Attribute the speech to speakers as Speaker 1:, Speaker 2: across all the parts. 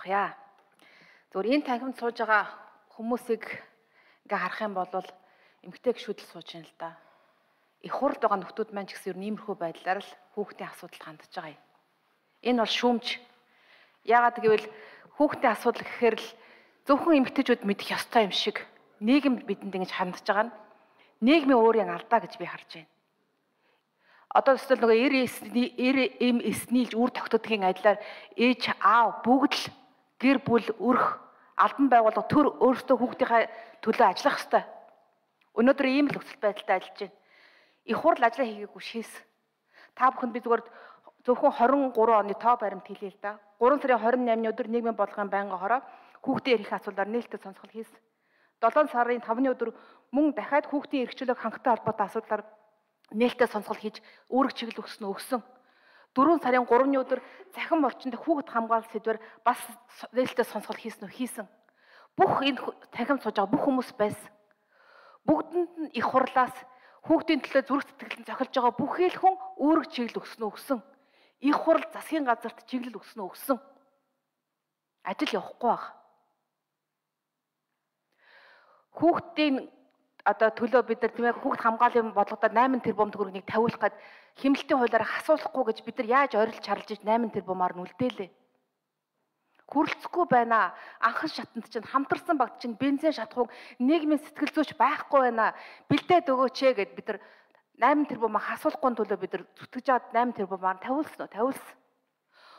Speaker 1: асуухъя. Зүгээр энэ танхимд сууж байгаа хүмүүсийг ингээ харах юм бол эмгтэй гişүүд л сууж байна л да. Их хурд байгаа нөхдүүд маань ч гэсэн ер нь иймэрхүү байдлаар л хүүхдийн асуудалд хандж байгаа юм. Энэ бол шүүмж. Яагаад гэвэл хүүхдийн асуудал гэхээр л зөвхөн эмгтэйчүүд мэдэх ёстой юм шиг нийгэм бидэнд ингэж хандж байгаа нь нийгмийн өөрийн алдаа гэж би харж байна. Одоо зөвхөн нөгөө эм эснийлж үр тогтдгийн адилаар ээж аав бүгд л гэр бүл өрх албан байгууллага төр өөрсдөө хүүхдийнхээ төлөө ажиллах ёстой. Өнөөдөр ийм л нөхцөл байдалтай ажиллаж байна. Их хурл ажиллаа хийгээгүй шээс. Та бүхэнд би зүгээр зөвхөн 23 оны тоо баримт хэлье л да. 3 сарын 28-ны өдөр нийгмийн бодлогын байнгын хороо хүүхдийн эрх асуудлаар нээлттэй сонсгол хийсэн. 7 сарын 5-ны өдөр мөн дахиад хүүхдийн эрх чөлөөг хангалттай холбоотой асуудлаар нээлттэй сонсгол хийж үүрэг чиглэл өгсөн. 4 сарын 3-ны өдөр захин орчинд хүүхэд хамгаалалт сэдвээр бас нээлттэй сонсгол хийсэн. Бүх энэ танхимд сууж байгаа бүх хүмүүс байсан. Бүгдэнд нь их хурлаас хүүхдийн төлөө зүрх сэтгэлд зохилж байгаа бүхий л хүн үүрэг чиглэл өгсөн. Их хурл засгийн газарт чиглэл өгсөн. Ажил явахгүй баг. Хүүхдийн одоо төлөө бид нар тийм ээ хүүхд хамгааллын бодлогодоо 8 тэрбум төгрөгийг тавиулах гээд хэмнэлтийн хуулиар асуулахгүй гэж бид нар яаж ойрлж чарлж иж 8 тэрбумаар нүлдээлээ. Хүрэлцэхгүй байна. Анхан шатанд чинь хамтарсан багт чинь бензин шатхууг нийгмийн сэтгэл зүйч байхгүй байна. Бэлдээд өгөөч гэд бид нар 8 тэрбумаа асуулахгүй төлөө бид нар зүтгэж аваад 8 тэрбумаар тавиулсан.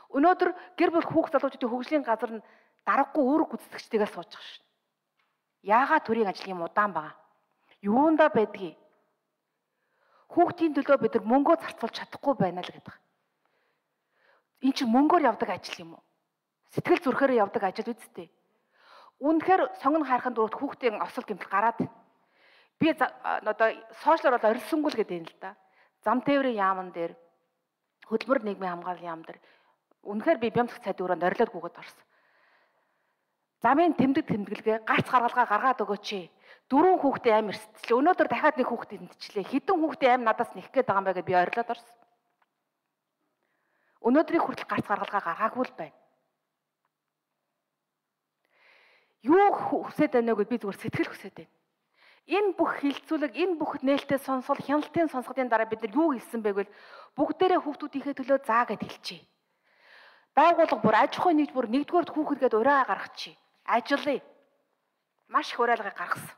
Speaker 1: Өнөөдөр гэр бүл хүүхд залуучуудын хөгжлийн газар нь дараггүй үүрэг гүйцэтгэгчдээс сууж байгаа шин. Яагаад төрийн ажил юм удаан байгаа? Юунда байдгийг? Хүүхдийн төлөө бид нар мөнгөө зарцуулж чадахгүй байна л гэдэг. Энэ чинь мөнгөөр явдаг ажил юм уу? Сэтгэл зүрхээр явдаг ажил үсттэй. Үнэхээр сонгон хайрхан дөрөвт хүүхдийн осол гэмтэл гараад байна. Би одоо сошиалор бол орилсонгүй л гэдэг юм л да. Зам тээврийн яамн дээр хөдөлмөр нийгмийн хамгааллын яам дээр үнэхээр би бямцх цайд өрөөнд орилоод гүгэд орсон. Замын тэмдэглэгээ гарц гаргалгаа гаргаад өгөөч. 4 хүүхдээ аим эрсдэлээ. Өнөөдөр дахиад нэг хүүхдээ тэмдчихлээ. Хэдэн хүүхдээ аим надаас нэх гээд байгаа юм бэ гэж би орилоод орсон. Өнөөдрийн хүртэл гарц гаргалгаа гаргаагүй л байна. Юу хүсэж байна вэ гэж би зүгээр сэтгэл хүсэж байна. Энэ бүх хилцүүлэг, энэ бүх нээлттэй сонсгол, хяналтын сонсголын дараа бид нар юу хэлсэн бэ гэвэл бүгдээрээ хүүхдүүдийнхээ төлөө заа гэд хэлчихье. Байгууллага бүр аж ахуйн нэгдүгээр нэгдүгээр хүүхэд гээд ураа гаргачихъя. Ажиллая. Маш их уриалгыг гаргасан.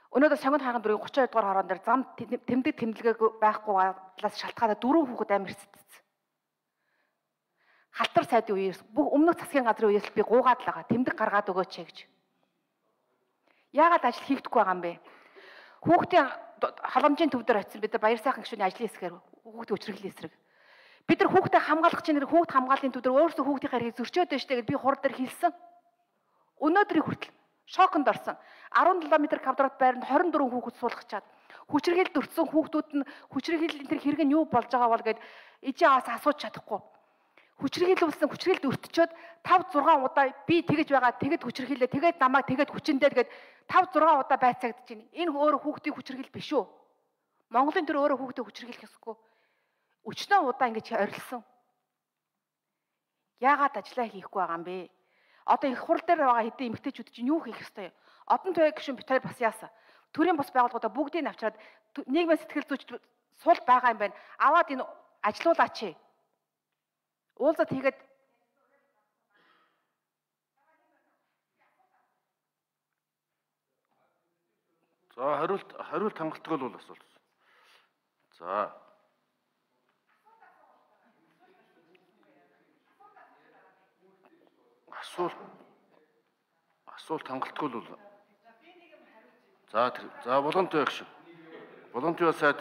Speaker 1: Өнөөдөр сонгон хайрхан дөрвийн 32 дугаар хороон дээр зам тэмдэглэгээ байхгүй талаас шалтгаалаад 4 хүүхэд амир эсдсэн. Халтар сайдын үеэс бүх өмнөх засгийн газрын үеэс би гуугаад л байгаа. Тэмдэг гаргаад өгөөч гэж. Яагаад ажил хийгдэхгүй байгаа юм бэ? Хүүхдийн халамжийн төв дээр очисон бид нар баяр сайхан гишүүний ажлын хэсгээр хүүхдийн хүчирхлийн эсрэг. Бид нар хүүхдээ хамгаалах чинь хүүхд хамгааллын төв дээр өөрсдөө хүүхдийн хэргийг зөрчөөд байна штэ гэж би хурд дээр хэлсэн. Өнөөдрийн хүртэл шоконд орсон. 17 м квадрат байранд 24 хүүхэд суулгах чад. Хүчирхийлд өртсөн хүүхдүүд нь хүчирхийллийн тэр хэрэг нь юу болж байгаа бол гэд ээжээ аваас асууж чадахгүй. Хүчирхийлүүлсэн хүчирхийлд өртчөөд 5 6 удаа би тэгэж байгаа тэгэд хүчирхийлээ тэгээд намайг тэгэд хүчиндээ гээд 5 6 удаа байцаагдаж байна. Энэ өөрөө хүүхдийн хүчирхийл биш үү? Монголын төр өөрөө хүүхдээ хүчирхийлэх ёсгүй. Өчнөө удаа ингэж орилсон. Яагаад ажиллаа хийхгүй байгаа юм бэ? Одоо их хурл дээр байгаа хэдэн эмэгтэйчүүд чинь юу хийх ёстой юм? Одон туяа гишүүн битээр бас яасан. Төрийн бус байгууллагуудаа бүгдийг авчираад нийгмийн сэтгэл зүйч сул байгаа юм байна. Аваад энэ ажилуулаач. Уулзаад хийгээд
Speaker 2: за хариулт хангалттай бол асуулт. За асуулт хангалттай бол за боломжтой байх шүү. Боломжтой сайд.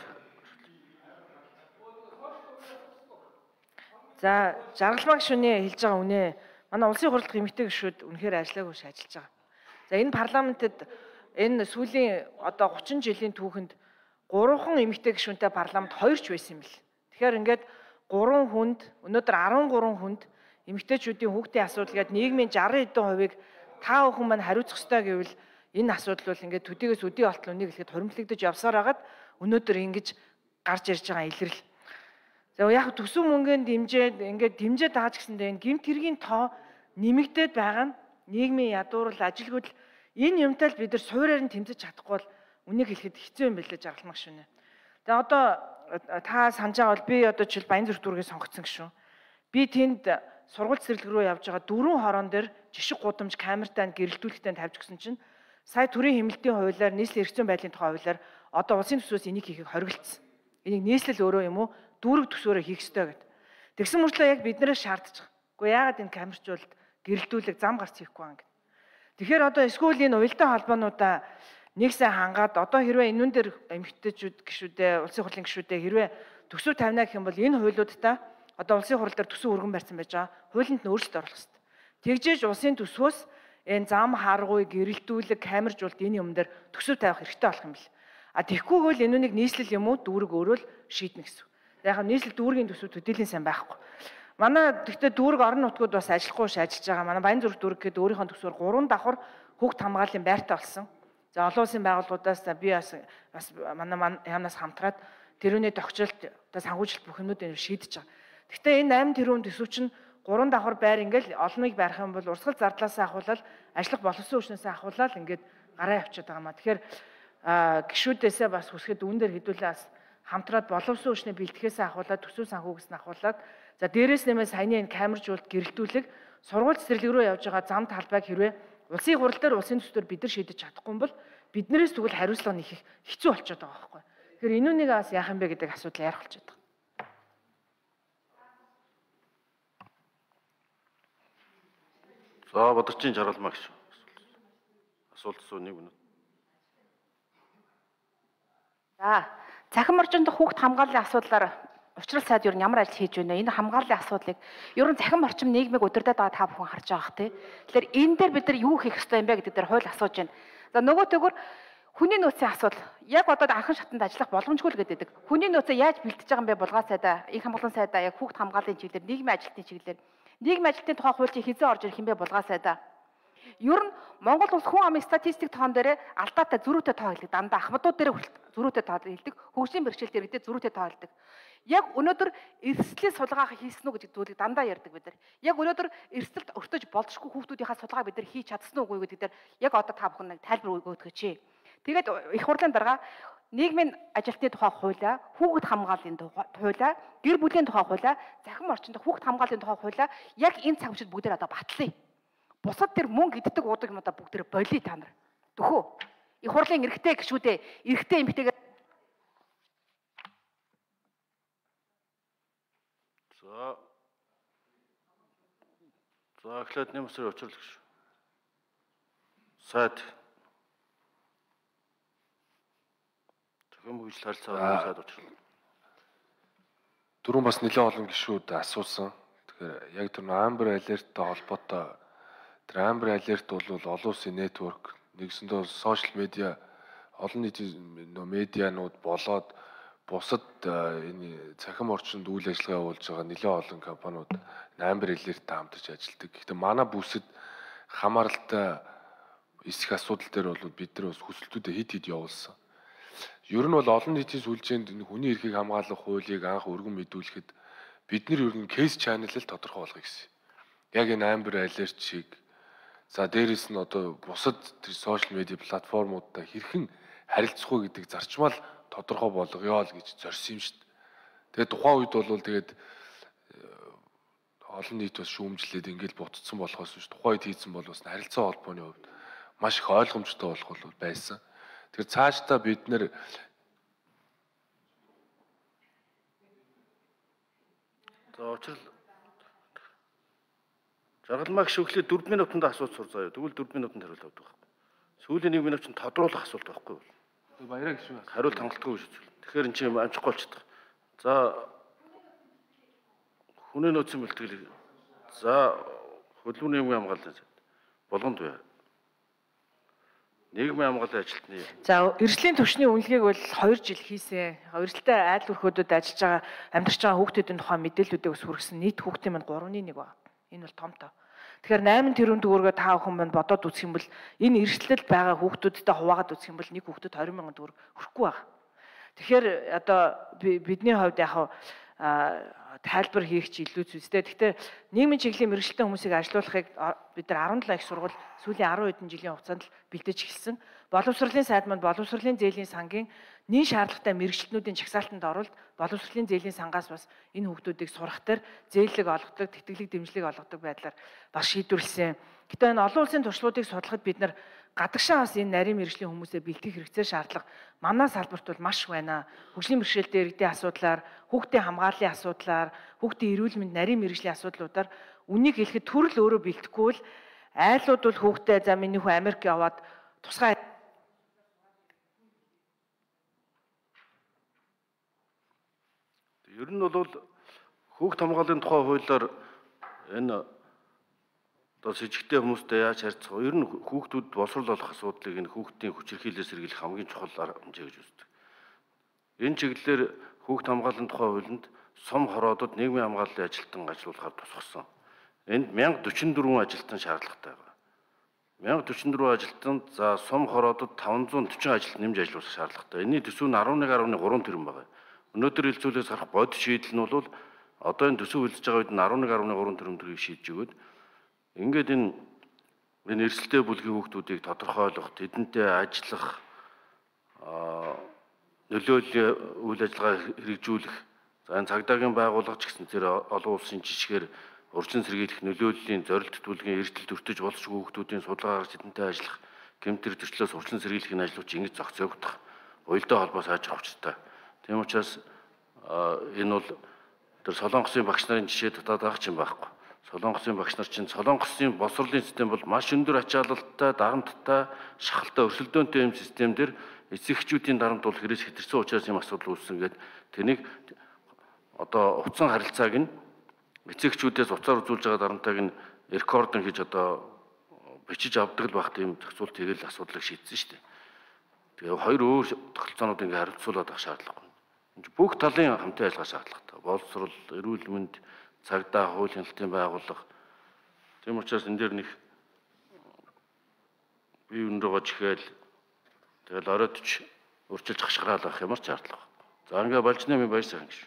Speaker 3: За жаргалмаа гишүүний хэлж байгаа үнэ. Манай улсын хурлдах эмэгтэй гишүүд үнэхээр ажиллаагүй ажиллаж байгаа. За энэ парламентэд энэ сүүлийн одоо 30 жилийн түүхэнд 3хан эмэгтэй гишүүнтэй парламент 2 ч байсан юм бэл. Тэгэхээр ингээд 3 хүнд өнөөдөр 13 хүнд эмэгтэйчүүдийн хүүхдийн асуудал гээд нийгмийн 60% та бүхэн маань хариуцах ёстой гэвэл энэ асуудал бол ингээд төдийгөөс өдий болтол үнийг хэлэхэд хуримтлагдаж явсаар хагаад өнөөдөр ингэж гарч ирж байгаа илрэл. За яг төсөв мөнгөнд дэмжээд ингээд дэмжээд байгаа ч гэсэндээ энэ гэмт хэргийн тоо нэмэгдээд байгаа нь нийгмийн ядуурл ажилгүйдэл энэ юмтай л бид нар суурьаар нь тэмцэж чадахгүй бол үнийг хэлэхэд хэцүү юм билээ жаргалмаг шүнэ. Тэгээ одоо та санаж байгаа бол би одоо жишээл Баянзүрх дүүргээ сонгогдсон гişүн. Би тэнд сургууль цэцэрлэг рүү явж байгаа дөрвөн хорон дээр жишг гудамж камертай гэрэлтүүлэгтэй тавьж гисэн чинь сая төрийн хэмнэлтийн хуулиар нийслэлийн эрх зүйн байдлын тухай хуулиар одоо улсын төсвөөс энийг хийхийг хоригдсон. Энийг нийслэл өөрөө юм уу дүүрэг төсвөөрөө хийх ёстой гэдэг. Тэгсэн мөртлөө яг биднээс шаардж байгаа. Гэхдээ яагаад энэ камерчуулалт гэрэлтүүлэг зам гарч хийхгүй байгаа юм. Тэгэхээр одоо эсвэл энэ уялдаа холбоонуудаа нэг сайн хангаад одоо хэрвээ энүүн дээр эмэгтэйчүүд гишүүдээ улсын хурлын гишүүдээ хэрвээ төсөв тавина гэх юм бол энэ хуулиудаа одоо улсын хурал дээр төсөв өргөн барьсан байж байгаа. Хуулинд нь өөрчлөлт оруулах хэрэгтэй. Тэгжээж улсын төсвөөс энэ зам харгуй гэрэлтүүлэг камержуулалт энэ юм дээр төсөв тавих хэрэгтэй болох юм бэл. А тэгхгүйгээр энүүнийг нийслэл юм уу дүүрэг өөрөө л шийднэ гэсэн. Яг нь нийслэл дүүргийн төсөв төдийлэн сайн байхгүй. Манай тэгтээ дүүрэг орон нутгууд бас ажиллахгүй ш ажиллаж байгаа. Манай Баянзүрх дүүрэг гэдэг өөрийнхөө төсвөр 3 давхар хүүхд хамгааллын байртай болсон. За олон улсын байгууллагуудаас би бас манай яамнаас хамтраад тэрүүний тогтчлолт одоо санхүүжилт бүх юмнуудыг шийдэж байгаа. Гэхдээ энэ 8 тэрбум төсөв чинь 3 давхар байр ингээл олныг барих юм бол урсгал зардлаасаа ахуулаад ажиллах боловсон хүчнээсээ ахуулаад ингээд гараа явчихад байгаа маа. Тэгэхээр гишүүдээсээ бас хүсгэд үүн дээр хэдүүлээ бас хамтраад боловсон хүчнээ бэлтгэхээсээ ахуулаад төсөв санхүүгээс нь ахуулаад за дээрээс нэмээ саяны энэ камержуулалт гэрэлтүүлэг сургууль цэцэрлэг рүү явж байгаа зам талбайг хэрвээ улсын хурал дээр улсын төсвөр бид нар шийдэж чадахгүй юм бол биднээс тэгвэл хариуцлага нэхэх хэцүү болчиход байгаа байхгүй. Тэгэхээр энүүнийг бас яах юм бэ гэдэг асуудал ярих болчиход байгаа.
Speaker 2: За бодорчийн жаргалмаа гэж асуулт асуу нэг минут.
Speaker 1: За цахим орчинд хүүхд хамгааллын асуудлаар Учрал сайд юу ямар ажил хийж байна вэ? Энэ хамгааллын асуудлыг ер нь цахим орчим нийгмийг удирдах байгаа та бүхэн харж байгаа бах тий. Тэгэхээр энэ дээр бид нар юу хийх ёстой юм бэ гэдэг дээр хууль асууж байна. За нөгөөтэйгүр хүний нөөцийн асуудал яг одоо анхан шатанд ажиллах боломжгүй л гэдэг. Хүний нөөцөө яаж бэлтэж байгаа юм бэ? Булгаа сайдаа, их хамгааллын сайдаа яг хүүхд хамгааллын чиглэлээр, нийгмийн ажилтны чиглэлээр, нийгмийн ажилтны тухай хууль чинь хизээ орж ирэх юм бэ? Булгаа сайдаа. Ер нь Монгол улс хүн амын статистик тоон дээр алдаатай зөрүүтэй тоо хэлдэг. Дандаа ахмадууд дээр зөрүүтэй тоо хэлдэг. Хөгжлийн бэрхшээл дээр гэдэг зөрүүтэй тоо хэлдэг. Яг өнөөдөр эрсдлийн сулгаа хийсэн үү гэдэг зүйлийг дандаа ярьдаг бид нар. Яг өнөөдөр эрсдэлд өртөж болзошгүй хүүхдүүдийнхаа сулгаа бид нар хийж чадсан уу гэдэг дээр яг одоо та бүхэн нэг тайлбар өгөөдгөөч. Тэгээд их хурлын дарга нийгмийн ажилтны тухай хуулиа, хүүхэд хамгааллын хуулиа, гэр бүлийн тухай хуулиа, захим орчинд хүүхэд хамгааллын тухай хуулиа яг энэ цаг үеэд бүгдээр одоо батлая. Бусад тэр мөнгө иддэг уудаг юм одоо бүгдээр болиё та нар. Төхөө. Их хурлын эрэгтэй гишүүдээ, эрэгтэй эмэгтэйгээ
Speaker 2: За эхлээд нэмсэр учрал гэж. Сайд. Зөвхөн хөгжил харилцаа сайд учрал.
Speaker 4: Дөрөв бас нэлээд олон гишүүд асуусан. Тэгэхээр яг тэр Amber Alert-тай холбоотой тэр Amber Alert бол олон улсын network, нэгсэндээ сошиал медиа, олон нийтийн медианууд болоод бусад энэ цахим орчинд үйл ажиллагаа явуулж байгаа нэлээд олон компаниуд Amber Alert-тай хамтарч ажилладаг. Гэхдээ манай бүсэд хамааралтай эсэх асуудал дээр бол бид нар бас хүсэлтүүдээ хид явуулсан. Ер нь бол олон нийтийн сүлжээнд хүний эрхийг хамгаалах хуулийг анх өргөн мэдүүлэхэд бид нар ер нь кейс чанелыг тодорхой болгоё гэсэн. Яг энэ Amber Alert шиг за дээрэс нь одоо бусад тэр сошиал медиа платформудтай хэрхэн харилцах вэ гэдэг зарчмал тодорхой болгоё л гэж зорьсон юм шүү дээ. Тэгээд тухайн үед бол тэгээд олон нийт бас шүүмжлээд ингээл бутцсан болохоос биш тухайн үед хийсэн бол бас харилцаа холбооны хувьд маш их ойлгомжтой болох бол байсан. Тэр цаашдаа бид нэр
Speaker 2: За учрал жаргалмаа гişүү эхлээд 4 минутанд асууж сур заяа. Тэгвэл 4 минутанд хариулт авдаг байхгүй. Сүүлийн 1 минут чинь тодруулах асуулт байхгүй юу?
Speaker 4: баяраа гişүү.
Speaker 2: Хариулт хангалтгүй шүү. Тэгэхээр эн чинь амжихгүй болчихдог. За хүний нөөцийн бэлтгэл. За хөдөлмөрийн нийгмийн хамгааллын болгонд бай. Нийгмийн хамгааллын ажилтны.
Speaker 3: За эрсдлийн түвшний үнэлгээг бол 2 жил хийсэн. Эрсдэлтэй айл өрхөөдөд ажиллаж байгаа амьдарч байгаа хүүхдүүдийн тухай мэдээллүүдийг ус хүргэсэн. Нийт хүүхдийн манд 3.1 байна. Энэ бол том тоо. Тэгэхээр 8 тэрбум төгрөгөө та бүхэн манд бодоод үзэх юм бол энэ эрсдэлд байгаа хүүхдүүдтэй хуваагаад үзэх юм бол нэг хүүхдэд 20,000 төгрөг хүрхгүй байна. Тэгэхээр одоо бидний хувьд яг тайлбар хийх чи илүү зүйтэй. Гэхдээ нийгмийн чиглэлийн мэргэжилтийн хүмүүсийг ажилуулахыг бид нар 17 их сургууль сүүлийн 10 хэдэн жилийн хугацаанд л бэлдэж эхэлсэн. Боловсролын сайд манд боловсролын зээлийн сангийн нийт шаардлагатай мэргэжилтнүүдийн чагсаалтанд оролт боловсролын зээлийн сангаас бас энэ хүүхдүүдийг сурах төр зээллэг олгодог, тэтгэлэг дэмжлэг олгодог байдлаар бас шийдвэрлсэн. Гэтэ энэ олон улсын туршлагуудыг судлахад бид нар гадагшаа бас энэ нарийн мэргэжлийн хүмүүсээ бэлтгэх хэрэгцээ шаардлага манай салбарт бол маш байна. Хөгжлийн бэрхшээлтэй иргэдийн асуудлаар, хүүхдийн хамгааллын асуудлаар, хүүхдийн эрүүл мэнд нарийн мэргэжлийн асуудлуудаар үнийг хэлэхэд төрөл өөрөө бэлтгэхгүй л айлууд бол хүүхдээ за миний хүү Америк яваад тусгай
Speaker 2: Ер нь бол хүүхд хамгааллын тухай хуулиар энэ одоо с жигтэй хүмүүстэй яаж харьцах вэ? Ер нь хүүхдүүд боловсрол олох асуудлыг энэ хүүхдийн хүчирхийлэлээс сэргийлэх хамгийн чухал хэмжээ гэж үздэг. Энэ чиглэлээр хүүхд хамгааллын тухай хуулинд сум хороодод нийгмийн хамгааллын ажилтан ажиллуулахаар тусгасан. Энд 1044 ажилтан шаардлагатай байна. 1044 ажилтанд за сум хороодод 540 ажилтан нэмж ажиллуулах шаардлагатай. Энэний төсөв нь 11.3 тэрбум байна. Өнөөдөр хэлцүүлээс харах бодит шийдэл нь бол одоо энэ төсөв хэлж байгаа үед нь 11.3 тэрбум төгрөгийг шийдэж өгöd ингээд энэ эрсдэлтэй бүлгийн хүүхдүүдийг тодорхойлох, тэдэнтэй ажиллах, нөлөөллийн үйл ажиллагаа хэрэгжүүлэх, за энэ цагдаагийн байгууллага ч гэсэн тэр олон улсын жишгээр урьдчилан сэргийлэх нөлөөллийн зорилт төлгийн эрсдэл төртөж болшгүй хүүхдүүдийн судалгаа гаргаж тэдэнтэй ажиллах, гэмтэр төрчлөөс урьдчилан сэргийлэхний ажлууд ингэж зохицогдох, уялдаа холбоо сайжрах учиртай. Тийм учраас энэ бол тэр Солонгосын багш нарын жишээ татаад байгаа ч юм байхгүй. Солонгосын багш нар чинь Солонгосын боловсролын систем бол маш өндөр ачаалалтай, дарамттай, шахалтай, өрсөлдөөнтэй юм систем дээр эцэгчүүдийн дарамт бол хэрэгс хэтэрсэн учраас юм асуудал үүссэн гэдэг. Тэнийг одоо утсан харилцааг нь эцэгчүүдээс уцаар үзүүлж байгаа дарамтайг нь рекордон хийж одоо бичиж авдаг л багт юм зохицуул тэгэл асуудлыг шийдсэн шүү дээ. Тэгээ хоёр өөр тогтолцоонууд ингээ харилцуулаад авах шаардлагагүй. Бүх талын хамтын ажиллагаа шаардлагатай. Боловсрол, эрүүл мэнд, цагдаа, хууль хяналтын байгууллага. Тийм учраас энэ дээр нэг бие өнрөөгөө чихээл тэгэл оройтч өрчилж хашгираал авах ямар ч шаардлага. За ингээ болж нэмийн баяр сайн гэж.